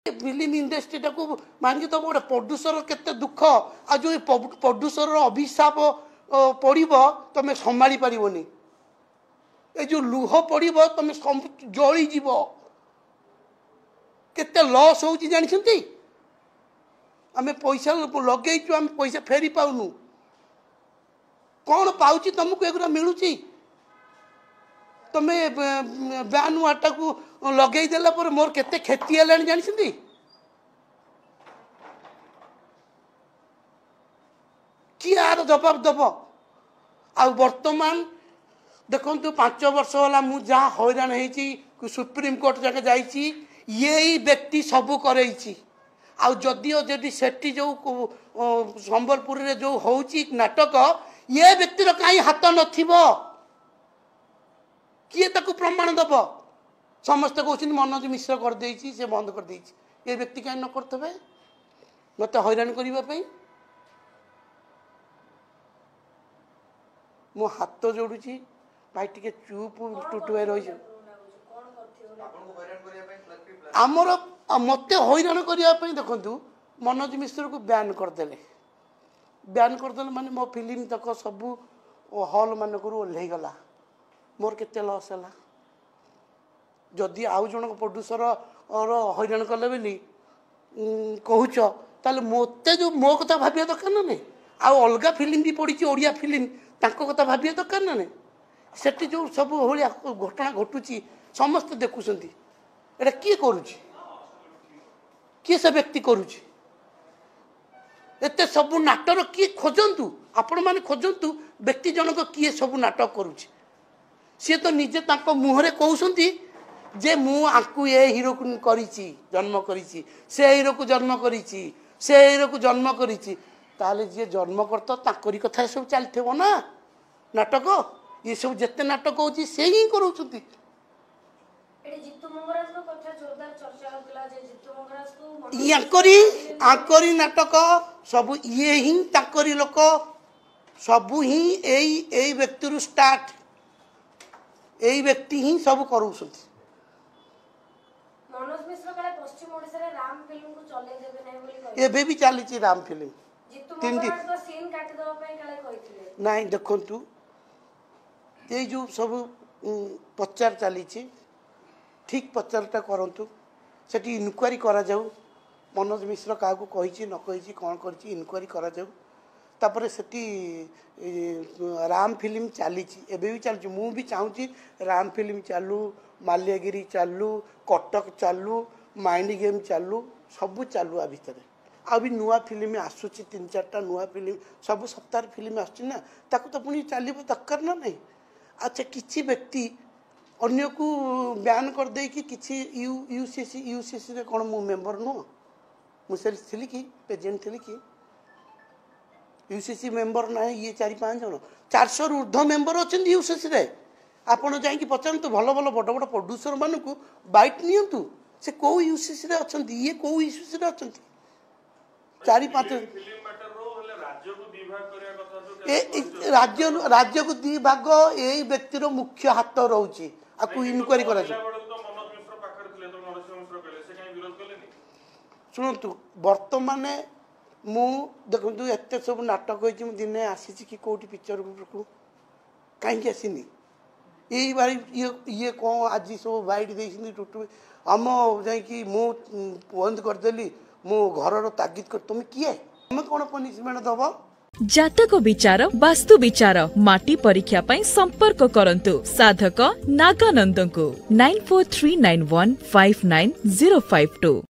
Film ଇଣ୍ଡଷ୍ଟ୍ରିଟାକୁ ଭାଙ୍ଗିଦେବ। ଗୋଟେ producer କେତେ ଦୁଃଖ, ଆଉ ଯେଉଁ ପ୍ରଡ୍ୟୁସରର ଅଭିଶାପ ପଡ଼ିବ ତମେ ସମ୍ଭାଳି ପାରିବନି। ଏ ଯେଉଁ ଲୁହ ପଡ଼ିବ ତମେ ଜଳିଯିବ। କେତେ ଲସ୍ ହେଉଛି ଜାଣିଛନ୍ତି? ଆମେ ପଇସା ଲଗେଇଛୁ, ଆମେ ପଇସା ଫେରି ପାଉନୁ। କ'ଣ ପାଉଛି ତମକୁ? ଏଗୁଡ଼ା ମିଳୁଛି? ତମେ ବ୍ୟାନ୍ ୱାର୍ଡ଼ଟାକୁ ଲଗେଇ ଦେଲା ପରେ ମୋର କେତେ କ୍ଷତି ହେଲାଣି ଜାଣିଛନ୍ତି? କିଏ ଆର ଜବାବ ଦେବ? ଆଉ ବର୍ତ୍ତମାନ ଦେଖନ୍ତୁ, 5 ବର୍ଷ ହେଲା ମୁଁ ଯାହା ହଇରାଣ ହେଇଛି, ସୁପ୍ରିମକୋର୍ଟ ଯାକେ ଯାଇଛି, ଏଇ ବ୍ୟକ୍ତି ସବୁ କରେଇଛି। ଆଉ ଯଦିଓ ଯଦି ସେଠି ଯେଉଁ ସମ୍ବଲପୁରରେ ଯେଉଁ ହେଉଛି ନାଟକ, ଏ ବ୍ୟକ୍ତିର କାହିଁ ହାତ ନଥିବ? କିଏ ତାକୁ ପ୍ରମାଣ ଦେବ? ସମସ୍ତେ କହୁଛନ୍ତି ମନୋଜ ମିଶ୍ର କରିଦେଇଛି, ସେ ବନ୍ଦ କରିଦେଇଛି। ଏ ବ୍ୟକ୍ତି କାହିଁ ନ କରିଥିବେ ମୋତେ ହଇରାଣ କରିବା ପାଇଁ? ମୁଁ ହାତ ଯୋଡ଼ୁଛି ଭାଇ, ଟିକେ ଚୁପ୍ ଟୁଟୁ ଭାଇ ରହିଛି। ଆମର ମୋତେ ହଇରାଣ କରିବା ପାଇଁ ଦେଖନ୍ତୁ, ମନୋଜ ମିଶ୍ରକୁ ବ୍ୟାନ୍ କରିଦେଲେ। ବ୍ୟାନ୍ କରିଦେଲେ ମାନେ ମୋ ଫିଲ୍ମ ତକ ସବୁ ହଲ୍ ମାନଙ୍କରୁ ଓହ୍ଲେଇଗଲା। ମୋର କେତେ ଲସ୍ ହେଲା? ଯଦି ଆଉ ଜଣଙ୍କ ପ୍ରଡ୍ୟୁସର ହଇରାଣ କଲେ ବୋଲି କହୁଛ, ତାହେଲେ ମୋତେ ଯେଉଁ ମୋ କଥା ଭାବିବା ଦରକାର ନା ନାହିଁ? ଆଉ ଅଲଗା ଫିଲ୍ମ ବି ପଡ଼ିଛି, ଓଡ଼ିଆ ଫିଲ୍ମ, ତାଙ୍କ କଥା ଭାବିବା ଦରକାର ନା ନାହିଁ? ସେଠି ଯେଉଁ ସବୁ ଭଳିଆ ଘଟଣା ଘଟୁଛି ସମସ୍ତେ ଦେଖୁଛନ୍ତି। ଏଇଟା କିଏ କରୁଛି? କିଏ ସେ ବ୍ୟକ୍ତି କରୁଛି ଏତେ ସବୁ ନାଟର? କିଏ ଖୋଜନ୍ତୁ, ଆପଣମାନେ ଖୋଜନ୍ତୁ ବ୍ୟକ୍ତି ଜଣକ କିଏ ସବୁ ନାଟକ କରୁଛି। ସିଏ ତ ନିଜେ ତାଙ୍କ ମୁହଁରେ କହୁଛନ୍ତି ଯେ ମୁଁ ଆଙ୍କୁ ଏ ହିରୋକୁ କରିଛି, ଜନ୍ମ କରିଛି, ସେ ହିରୋକୁ ଜନ୍ମ କରିଛି, ସେ ହିରୋକୁ ଜନ୍ମ କରିଛି। ତାହେଲେ ଯିଏ ଜନ୍ମ କରିତ ତାଙ୍କରି କଥା ଏସବୁ ଚାଲିଥିବ ନା ନାଟକ? ଏସବୁ ଯେତେ ନାଟକ ହେଉଛି ସେ ହିଁ କରାଉଛନ୍ତି। ୟାଙ୍କରି ନାଟକ ସବୁ, ଇଏ ହିଁ ତାଙ୍କରି ଲୋକ, ସବୁ ହିଁ ଏଇ ବ୍ୟକ୍ତିରୁ ଷ୍ଟାର୍ଟ। ଏଇ ବ୍ୟକ୍ତି ହିଁ ସବୁ କରାଉଛନ୍ତି। ଏବେ ବି ଚାଲିଛି ରାମ ଫିଲ୍ମ ତିନିଟି। ନାଇଁ ଦେଖନ୍ତୁ, ଏଇ ଯେଉଁ ସବୁ ପ୍ରଚାର ଚାଲିଛି, ଠିକ୍ ପ୍ରଚାରଟା କରନ୍ତୁ, ସେଠି ଇନକ୍ୱାରି କରାଯାଉ। ମନୋଜ ମିଶ୍ର କାହାକୁ କହିଛି ନ କହିଛି, କ'ଣ କରିଛି, ଇନକ୍ୱାରି କରାଯାଉ। ତାପରେ ସେଠି ରାମ ଫିଲ୍ମ ଚାଲିଛି, ଏବେ ବି ଚାଲିଛି। ମୁଁ ବି ଚାହୁଁଛି ରାମ ଫିଲ୍ମ ଚାଲୁ, ମାଲ୍ୟଗିରି ଚାଲୁ, କଟକ ଚାଲୁ, ମାଇଣ୍ଡ ଗେମ୍ ଚାଲୁ, ସବୁ ଚାଲୁ। ଆ ଭିତରେ ଆଉ ବି ନୂଆ ଫିଲ୍ମ ଆସୁଛି, 3 4ଟା ନୂଆ ଫିଲ୍ମ ସବୁ ସପ୍ତାହରେ ଫିଲ୍ମ ଆସୁଛି ନା, ତାକୁ ତ ପୁଣି ଚାଲିବ ଦରକାର ନା ନାହିଁ? ଆଚ୍ଛା, କିଛି ବ୍ୟକ୍ତି ଅନ୍ୟକୁ ବ୍ୟାନ୍ କରିଦେଇକି କିଛି U C C, U C ସିରେ କ'ଣ ମୁଁ ମେମ୍ବର ନୁହଁ? ମୁଁ ସେଠି ଥିଲି କି ପ୍ରେସିଡେଣ୍ଟ ଥିଲି କି? ୟୁ ସି ସି ମେମ୍ବର ନାହିଁ ଇଏ 4 5 ଜଣ, 400ରୁ ଉର୍ଦ୍ଧ୍ୱ ମେମ୍ବର ଅଛନ୍ତି ୟୁ ସି ସିରେ। ଆପଣ ଯାଇକି ପଚାରନ୍ତୁ ଭଲ ଭଲ ବଡ଼ ବଡ଼ ପ୍ରଡ୍ୟୁସରମାନଙ୍କୁ, ବାଇଟ୍ ନିଅନ୍ତୁ, ସେ କେଉଁ ୟୁ ସି ସିରେ ଅଛନ୍ତି, ଇଏ କେଉଁ ୟୁ ସି ସିରେ ଅଛନ୍ତି। 4 5 ଏ ରାଜ୍ୟ, ରାଜ୍ୟକୁ ଦି ଭାଗ ଏଇ ବ୍ୟକ୍ତିର ମୁଖ୍ୟ ହାତ ରହୁଛି। ଆକୁ ଇନକ୍ୱାରି କରାଯାଉ। ଶୁଣନ୍ତୁ, ବର୍ତ୍ତମାନ ମୁଁ ଦେଖନ୍ତୁ ଏତେ ସବୁ ନାଟକ ହେଇଛି, ମୁଁ ଦିନେ ଆସିଛି କି କେଉଁଠି ପିକ୍ଚରକୁ? କାହିଁକି ଆସିନି? ଏଇ ବାରି ଇଏ କ'ଣ ଆଜି ସବୁ ବାଇଟ୍ ଦେଇଛନ୍ତି ଟୁଟୁ ଆମ ଯାଇକି ମୁଁ ବନ୍ଦ କରିଦେଲି, ମୁଁ ଘରର ତାଗିଦ କରି। ତୁମେ କିଏ? ତୁମେ କ'ଣ ପନିସମେଣ୍ଟ ଦେବ? ଜାତକ ବିଚାର, ବାସ୍ତୁ ବିଚାର, ମାଟି ପରୀକ୍ଷା ପାଇଁ ସମ୍ପର୍କ କରନ୍ତୁ ସାଧକ ନାଗାନନ୍ଦଙ୍କୁ 9439159052।